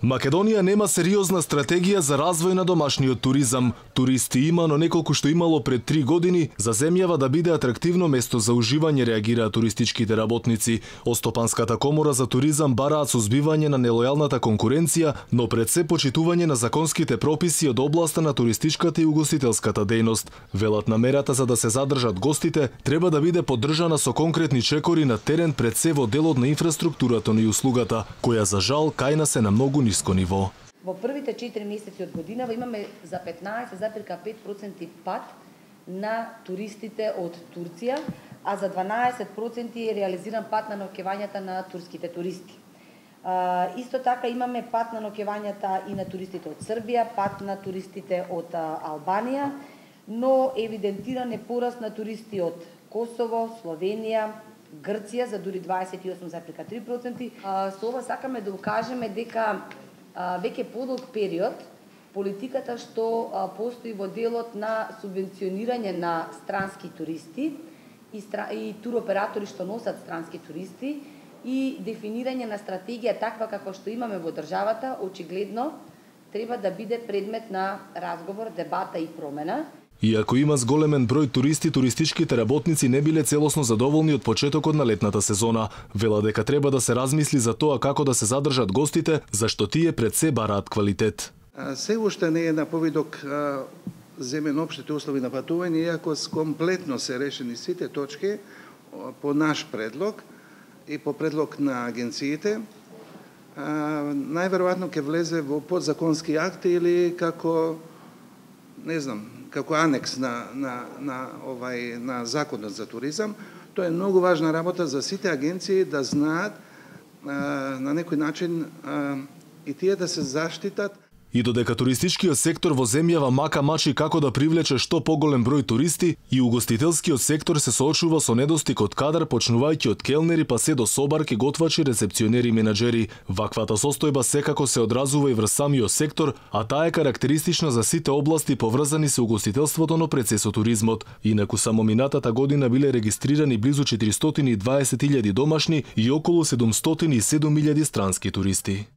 Македонија нема сериозна стратегија за развој на домашниот туризам. Туристи има, но неколку што имало пред 3 години, за земјава да биде атрактивно место за уживање, реагираат туристичките работници. Остопанската комора за туризам бараат сузбивање на нелојалната конкуренција, но пред се почитување на законските прописи од областа на туристичката и угостителската дејност. Велат намерата за да се задржат гостите треба да биде поддржана со конкретни чекори на терен пред се во делот на инфраструктурата и услугата, која за жал кај нас е на многу ниско ниво. Во првите 4 месеци од годинава имаме за 15,5% пад на туристите од Турција, а за 12% е реализиран пад на ноќевањата на турските туристи. Исто така имаме пад на ноќевањата и на туристите од Србија, пад на туристите од Албанија, но евидентиран е пораст на туристи од Косово, Словенија, Грција за дури 28,3%. Со ова сакаме да укажеме дека веќе подолг период политиката што постои во делот на субвенционирање на странски туристи и туроператори што носат странски туристи и дефинирање на стратегија таква како што имаме во државата, очигледно треба да биде предмет на разговор, дебата и промена. Иако има зголемен број туристи, туристичките работници не биле целосно задоволни од почетокот на летната сезона. Вела дека треба да се размисли за тоа како да се задржат гостите, зашто тие пред се бараат квалитет. Се уште не е на повидок земен општите услови на патување, иако комплетно се решени сите точки по наш предлог и по предлог на агенциите. Најверојатно ќе влезе во подзаконски акти или како, не знам, како анекс на законот за туризам. Тоа е многу важна работа за сите агенции да знаат на некој начин и тие да се заштитат. И додека туристичкиот сектор во земјава мака мачи како да привлече што поголем број туристи, и угостителскиот сектор се соочува со недостиг од кадар, почнувајќи од келнери па се до собарки, готвачи, рецепционери и менаџери. Ваквата состојба секако се одразува и врз самиот сектор, а таа е карактеристична за сите области поврзани со угостителството, но пред се со туризмот. Инаку само минатата година биле регистрирани близу 420.000 домашни и околу 707.000 странски туристи.